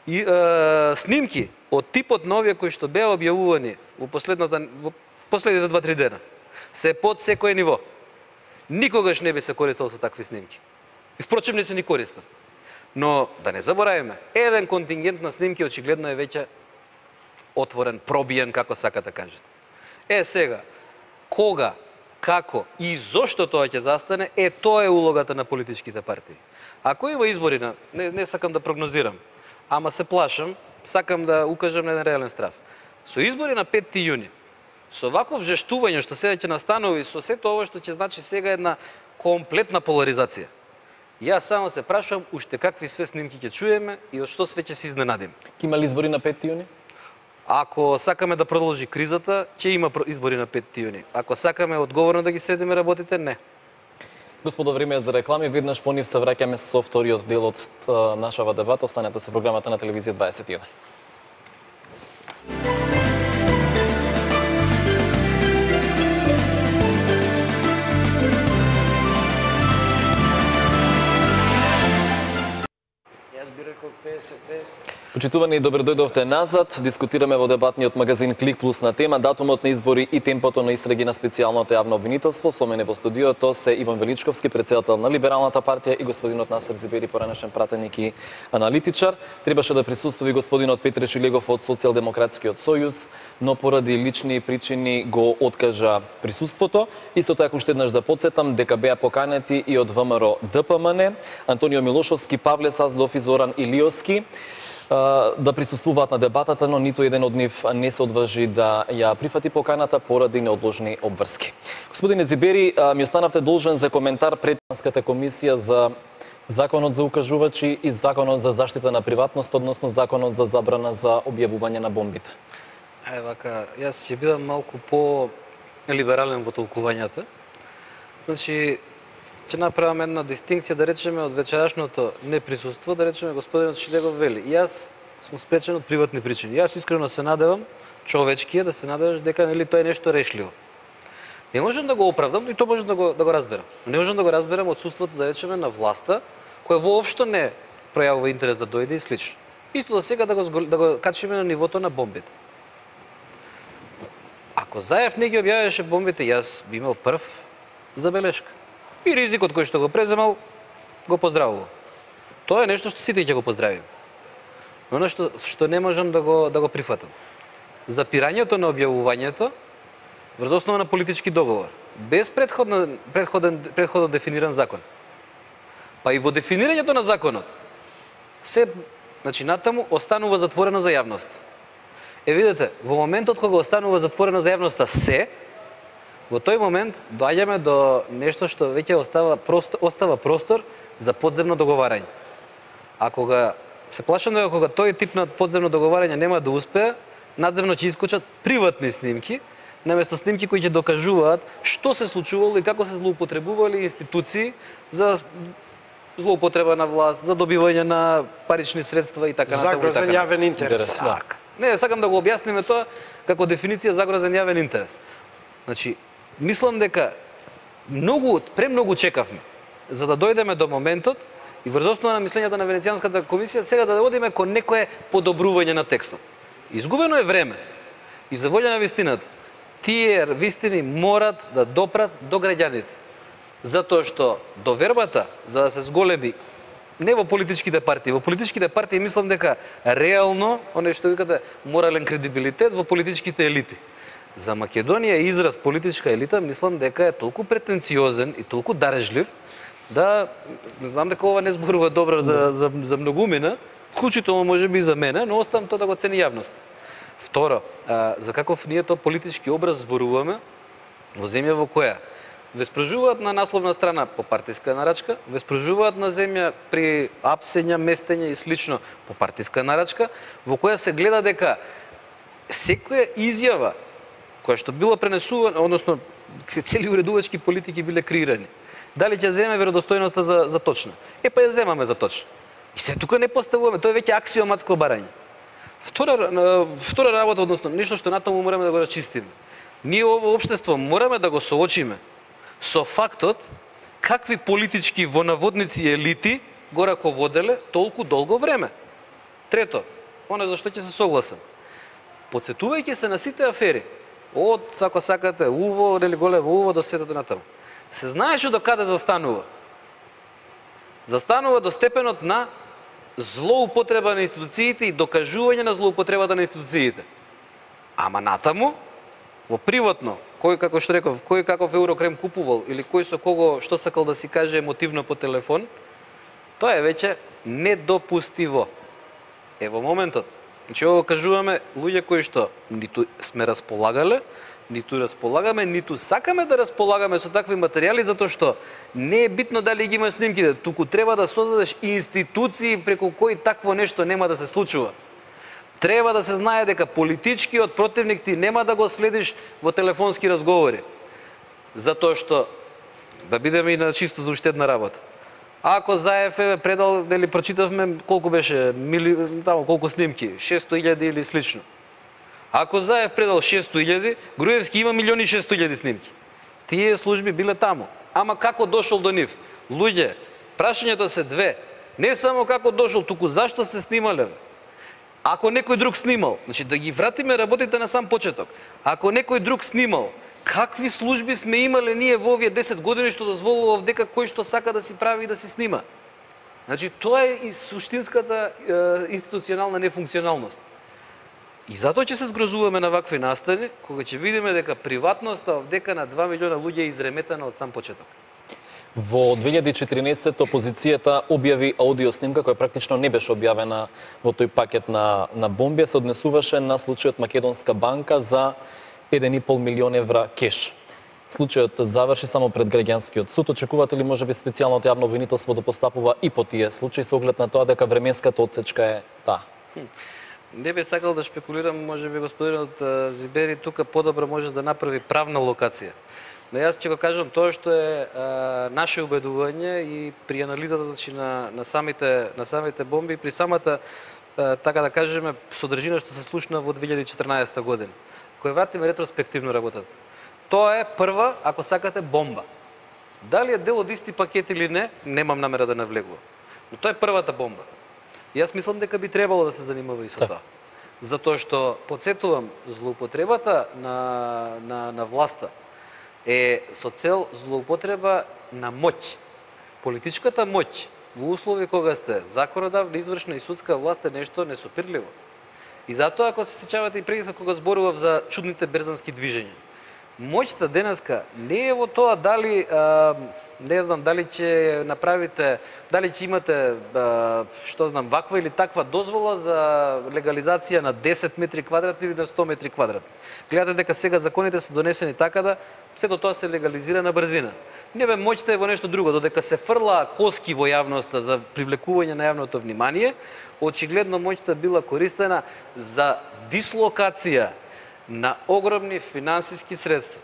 и снимки од типот на овие кои што беа објавувани во последните 2-3 дена, се под секое ниво. Никогаш не би се користел со такви снимки. И впрочем не се ни користат. Но да не заборавиме, еден контингент на снимки очигледно е веќе отворен, пробиен, како сакате кажете. Сега, кога, како и зошто тоа ќе застане, тоа е улогата на политичките партии. Ако има избори, не сакам да прогнозирам, ама се плашам, сакам да укажам на еден реален страв. Со избори на 5 јуни, со ваков жештување што сега ќе настанува и со сето ова што ќе значи сега една комплетна поларизација. Јас само се прашувам уште какви све снимки ќе чуеме и од што све ќе се изненадим. Ќе има ли избори на 5 јуни? Ако сакаме да продолжи кризата, ќе има избори на 5 јуни. Ако сакаме одговорно да ги следиме работите, не. Господо, време е за реклами. Веднаш по нив се враќаме со вториот дел од нашава дебата. Останете со програмата на Телевизија 21. Почитувани, добро дојдовте назад. Дискутираме во дебатниот магазин Клик Плюс на тема датумот на избори и темпото на истраги на специјалното јавно обвинителство. Со мене во студиото се Иван Величковски, председател на Либералната партија, и господинот Насер Зибери, поранешен пратеник и аналитичар. Требаше да присуствува господинот Петре Шилегов од Социјалдемократскиот сојуз, но поради лични причини го откажа присуството. Исто така уште еднаш да потсетам дека беа поканети и од ВМРО ДПМН, Антонио Милошовски, Павле Саздов и Зоран Илиовски да присуствуваат на дебатата, но ниту еден од нив не се одважи да ја прифати поканата поради неодложни обврски. Господине Зибери, ми останавте должен за коментар пред Етичката комисија за Законот за укажувачи и Законот за заштита на приватност, односно Законот за забрана за објавување на бомбите. Јас ќе бидам малку по-либерален во толкувањата. Значи, ќе направам една дистинкција, да речеме, од вечерашното неприсуство, да речеме, господинот Шилегов вели: јас сум спречен од приватни причини. Јас искрено се надевам, човечки е да се надеваш дека тоа е нешто решливо. Не можам да го оправдам, и тоа можам да го разберам. Не можам да го разберам отсуството, да речеме, на власта, која воопшто не пројавува интерес да дојде и слично. Исто да сега да го качиме на нивото на бомбите. Ако Заев не ги објавеше бомбите, јас би имал прв забелешка. И ризикот кој што го преземал, го поздравува. Тоа е нешто што сите ќе го поздравим. Но нешто што не можам да го прифатам. Запирањето на објавувањето врз основа на политички договор, без предходно дефиниран закон. Па и во дефинирањето на законот, натаму останува затворено за јавност. Видете, во моментот кога останува затворено за јавноста во тој момент доаѓаме до нешто што веќе остава простор за подземно договарање. А се плашам дека кога тој тип на подземно договарање нема да успее, надземно ќе искочат приватни снимки, наместо снимки кои ќе докажуваат што се случувало и како се злоупотребували институции за злоупотреба на власт, за добивање на парични средства и така натаму. Загрозен јавен интерес. Не, сакам да го објасниме тоа како дефиниција загрозен јавен интерес. Значи, мислам дека премногу чекавме за да дојдеме до моментот и врз основа на мислењата на Венецијанската комисија сега да одиме кон некое подобрување на текстот. Изгубено е време. И за волја на вистината, тие вистини морат да допрат до граѓаните. Затоа што довербата за да се зголеми не во политичките партии, во политичките партии мислам дека реално, оној што викате морален кредибилитет во политичките елити. За Македонија израз политичка елита мислам дека е толку претенциозен и толку дарежлив да знам дека ова не зборува добро за многумина, вклучително можеби и за мене, но оставам тоа да го цени јавност. Второ, за каков ние тоа политички образ зборуваме во земја во која веспружуваат на насловна страна по партиска нарачка, веспружуваат на земја при апсења, местења и слично по партиска нарачка, во која се гледа дека секоја изјава која што била пренесувана, односно цели уредувачки политики биле креирани. Дали ќе земе веродостојноста за точна? Па ја земаме за точна. И се тука не поставуваме, тоа е веќе аксиоматско барање. Втора работа, односно нешто што натаму мораме да го расчистиме. Ние ово општество мораме да го соочиме со фактот какви политички во наводници елити го раководеле толку долго време. Трето, оно за што ќе се согласам. Подсетувајќи се на сите афери, од, ако сакате, УВО, нели големо УВО до сетата натаму, се знаеше до каде застанува. Застанува до степенот на злоупотреба на институциите и докажување на злоупотребата на институциите. Ама натаму, во приватно, кој, како што реков, кој каков еврокрем купувал или кој со кого што сакал да си каже емотивно по телефон, тоа е веќе недопустиво. Во моментот, значи ово кажуваме луѓе кои што ниту сме располагале, ниту располагаме, ниту сакаме да располагаме со такви материјали, затоа што не е битно дали ги има снимките, туку треба да создадеш институции преку кои такво нешто нема да се случува. Треба да се знае дека политичкиот противник ти нема да го следиш во телефонски разговори. Затоа што, да бидеме и на чисто за уштедна работа, ако Заев е предал, нели прочитавме колку беше, таму колку снимки, 600.000 или слично. Ако Заев предал 600.000, Груевски има 1.600.000 снимки. Тие служби биле таму. Ама како дошол до нив? Луѓе, прашањата се две. Не само како дошол, туку зашто сте снимале? Ако некој друг снимал, значи да ги вратиме работите на сам почеток. Ако некој друг снимал, какви служби сме имале ние во овие 10 години што дозволува дека кој што сака да си прави и да си снима? Значи тоа е и суштинската институционална нефункционалност. И затоа ќе се згрозуваме на вакви настани, кога ќе видиме дека приватноста дека на 2 милиона луѓе е изреметана од сам почеток. Во 2014 опозицијата објави аудио снимка која практично не беше објавена во тој пакет на бомби, се однесуваше на случајот Македонска банка за 1,5 милион евра кеш. Случајот заврши само пред граѓанскиот суд. Очекувате ли можеби специјалното јавно обвинителство да постапува и по тие случаи со оглед на тоа дека временската отсечка е таа? Не би сакал да шпекулирам, можеби господинот Зибери тука подобро може да направи правна локација. Но јас ќе го кажам тоа што е наше убедување и при анализата значи, на самите бомби, при самата, така да кажеме, содржина што се случна во 2014 година, кој вратиме ретроспективно работата. Тоа е прва, ако сакате, бомба. Дали е дел од исти пакет или не, немам намера да навлегувам. Но тоа е првата бомба. Јас мислам дека би требало да се занимава и со тоа. Затоа што, подсетувам, злоупотребата на власта е со цел злоупотреба на моќ. Политичката моќ во услови кога сте законодавна, извршна и судска власт е нешто несопирливо. И затоа, ако се сеќавате и преди кога зборував за чудните берзански движења, моќта денеска не е во тоа дали, не знам, дали ќе направите, дали ќе имате, што знам, ваква или таква дозвола за легализација на 10 метри квадратни или на 100 метри квадратни. Гледате дека сега законите се донесени така да сето тоа се легализира на брзина. Не бе, моќта е во нешто друго, додека се фрла коски во јавноста за привлекување на јавното внимание, очигледно моќта била користена за дислокација на огромни финансиски средства.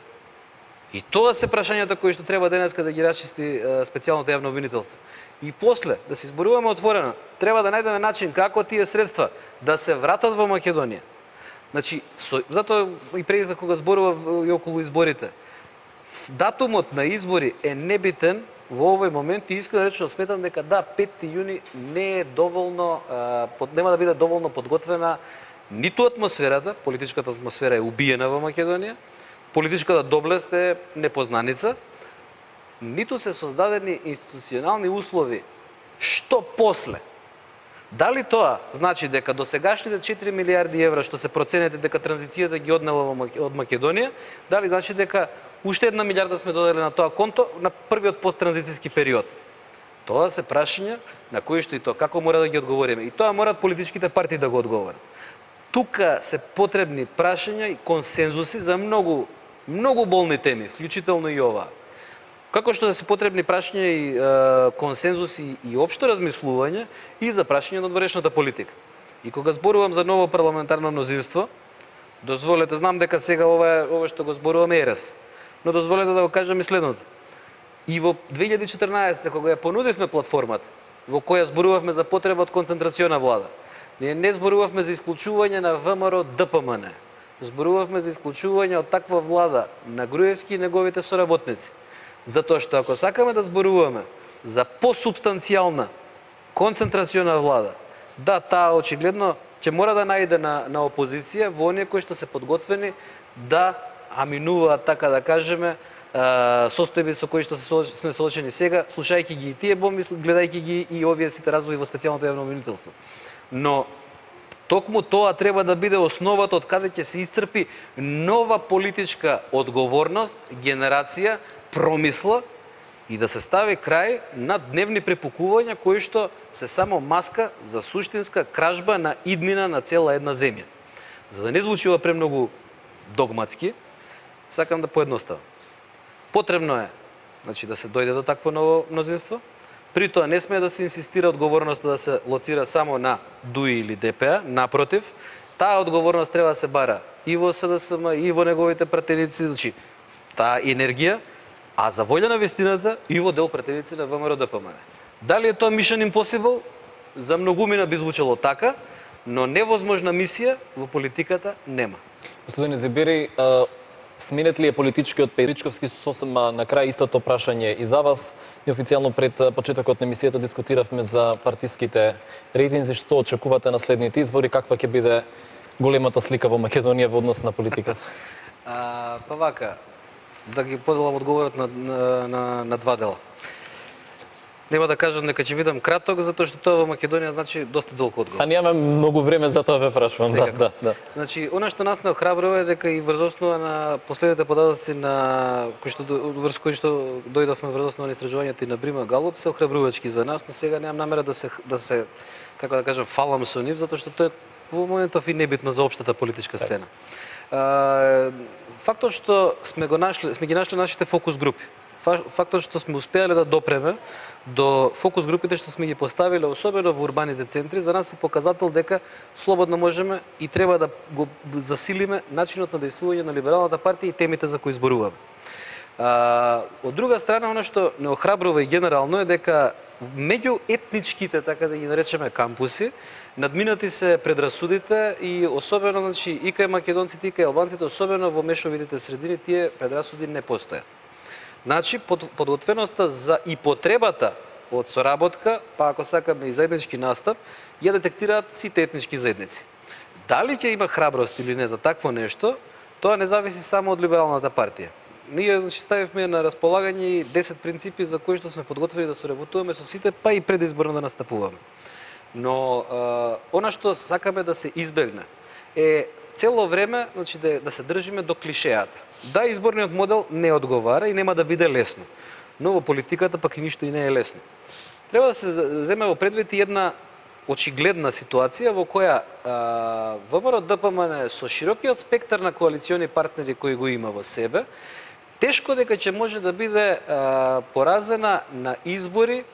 И тоа се прашањата кои што треба денеска да ги расчисти специјалното јавно обвинителство. И после, да се изборуваме отворено, треба да најдеме начин како тие средства да се вратат во Македонија. Значи, затоа и преди кога зборував и околу изборите, датумот на избори е небитен во овој момент и искрено речено сметам дека да, 5 јуни не е доволно, нема да биде доволно подготвена ниту атмосферата, политичката атмосфера е убиена во Македонија, политичката доблест е непознаница, ниту се создадени институционални услови. Што после? Дали тоа значи дека досегашните 4 милиарди евра што се проценете дека транзицијата ги однела од Македонија, дали значи дека уште 1 милиарда сме додели на тоа конто на првиот посттранзицијски период? Тоа се прашања на кои што и тоа како мора да ги одговориме. И тоа морат политичките партии да го одговорат. Тука се потребни прашања и консензуси за многу болни теми, вклучително и ова. Како што се потребни прашања и консензуси и општо размислување и за прашање на одворешната политика. И кога зборувам за ново парламентарно мнозинство, дозволете, знам дека сега ова што го зборуваме ерес, но дозволете да го кажам и следното. И во 2014 кога ја понудивме платформата, во која зборувавме за потреба од концентрациона влада, ние не зборувавме за исклучување на ВМРО ДПМН, зборувавме за исклучување од таква влада на Груевски и неговите соработници. Затоа што ако сакаме да зборуваме за посубстанцијална концентрациона влада. Да, таа очигледно ќе мора да најде на опозиција во оние кои што се подготвени да аминуваат, така да кажеме, состојби со кои што сме соочени сега, слушајќи ги и тие бомби, гледајќи ги и овие сите развои во специјалното јавно обвинителство. Но токму тоа треба да биде основата од каде ќе се исцрпи нова политичка одговорност, генерација, промисла и да се стави крај на дневни препукувања кои што се само маска за суштинска кражба на иднина на цела една земја. За да не звучи ова премногу догматски, сакам да поедноставам. Потребно е, значи, да се дојде до такво ново мнозинство. При тоа не смее да се инсистира одговорноста да се лоцира само на ДУИ или ДПА, напротив, таа одговорност треба да се бара и во СДСМ, и во неговите пратеници, значи, таа енергија, а за волја на вистината и во дел пратеници на ВМРО ДПМН. Дали е тоа Mission Impossible? За многумина би звучало така, но невозможна мисија во политиката нема. Господин Зибери, сменет ли е политичкиот Пејричковски сосем на крај истото прашање и за вас? Неофицијално пред почетокот на емисијата дискутиравме за партиските рейтинзи. Што очекувате на следните избори? Каква ќе биде големата слика во Македонија во однос на политиката? Па вака, да ги поделам одговорот на два дела. Нема да кажам дека ќе бидам краток, затоа што тоа во Македонија значи доста долг одговор. А немаме многу време за тоа ве прашувам. Да. Значи, она што нас не охрабрува е дека и врз основа на последните податоци на врз кои што дојдовме врз основа на истражувањето и на Брима Галуп се охрабрувачки за нас, но сега немам намера да се како да кажам фалам со нив, затоа што тоа во моментов и небитно за општата политичка сцена. Фактот што сме ги нашли нашите фокус групи. Фактот што сме успеале да допреме до фокус групите што сме ги поставиле, особено во урбаните центри, за нас е показател дека слободно можеме и треба да го засилиме начинот на действување на либералната партија и темите за кои зборуваме. Од друга страна, она што не охрабрува и генерално е дека меѓу етничките, така да ги наречеме, кампуси, надминати се предрасудите и особено, значи, и кај македонците, и кај албанците, особено во мешовитите средини, тие предрасуди не постојат. Значи, подготвеноста за и потребата од соработка, па ако сакаме и заеднички настап, ја детектираат сите етнички заедници. Дали ќе има храброст или не за такво нешто, тоа не зависи само од либералната партија. Ние, значи, ставивме на располагање 10 принципи за кои што сме подготвени да соработуваме со сите, па и предизборно да настапуваме. Но она што сакаме да се избегне е цело време, значи, да се држиме до клишеата. Да, изборниот модел не одговара и нема да биде лесно, но во политиката пак и ништо и не е лесно. Треба да се земе во предвид и една очигледна ситуација во која ВМРО ДПМН со широкиот спектар на коалициони партнери кои го има во себе, тешко дека ќе може да биде поразена на избори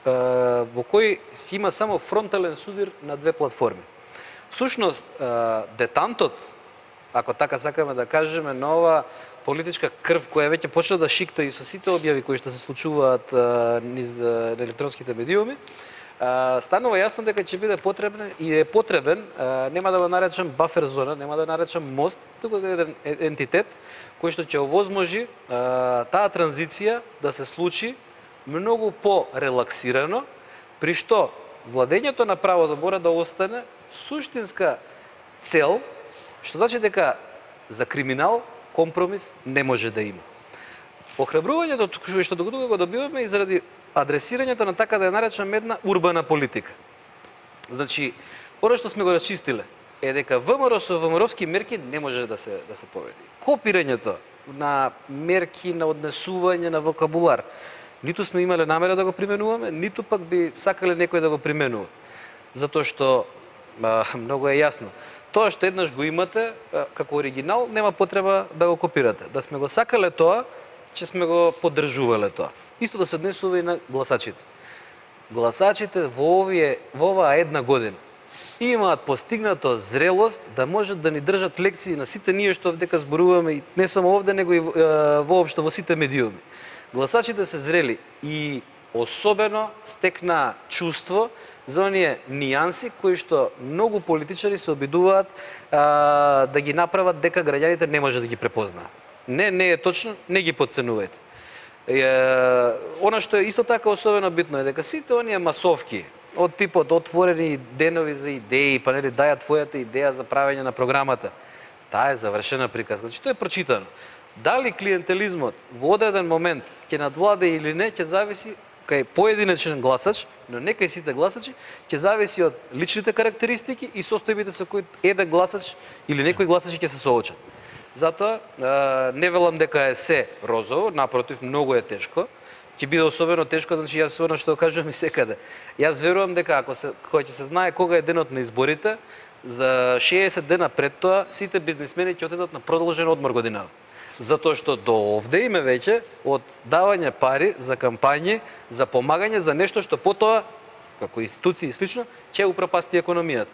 во кои има само фронтален судир на две платформи. Всушност, детантот, ако така сакаме да кажеме, на ова политичка крв која веќе почна да шикта и со сите објави кои што се случуваат низ електронските медиуми, станува јасно дека ќе биде потребен и е потребен, нема да го наречам бафер зона, нема да наречам мост, туку да е еден ентитет кој што ќе овозможи таа транзиција да се случи многу по-релаксирано, при што владењето на правото мора да остане суштинска цел, што значи дека за криминал компромис не може да има. Охрабрувањето што го добиваме и заради адресирањето на, така да ја наречам, една урбана политика. Значи, оно што сме го расчистиле е дека ВМРО со ВМРО-вски мерки не може да се победи. Копирањето на мерки, на однесување, на вокабулар, ниту сме имале намера да го применуваме, ниту пак би сакале некој да го применува. Затоа што многу е јасно. Тоа што еднаш го имате како оригинал, нема потреба да го копирате. Да сме го сакале тоа, ќе сме го поддржувале тоа. Исто да се однесува и на гласачите. Гласачите во оваа една година имаат постигнато зрелост да можат да ни држат лекции на сите ние што овдека зборуваме, и не само овде, него и воопшто во сите медиуми. Гласачите се зрели и особено стекна чувство за оние нијанси кои што многу политичари се обидуваат да ги направат дека граѓаните не може да ги препознаат. Не е точно, не ги подценувајте. Она што е исто така особено битно е дека сите оние масовки од типот отворени денови за идеи, па нели даја твојата идеја за правење на програмата. Таа е завршена приказка. Значи тоа е прочитано. Дали клиентелизмот во одреден момент ќе надвладе или не, ќе зависи кај поединечен гласач, но не кај сите гласачи, ќе зависи од личните карактеристики и состојбите со кои еден гласач или некои гласачи ќе се соочат. Затоа не велам дека е се розово, напротив, многу е тешко. Ќе биде особено тешко, значи јас она што кажувам и секаде. Јас верувам дека кога ќе се знае кога е денот на изборите, за 60 дена пред тоа сите бизнисмени ќе отидат на продолжен одмор годинава. Затоа што до овде име веќе од давање пари за кампањи, за помагање за нешто што потоа, како институции и слично, ќе упропасти економијата.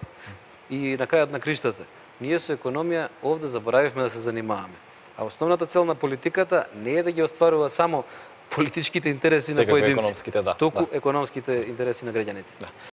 И на крајот на криштата, ние со економија овде заборавивме да се занимаваме. А основната цел на политиката не е да ги остварува само политичките интереси на поединци, економските, да, туку економските интереси на граѓаните.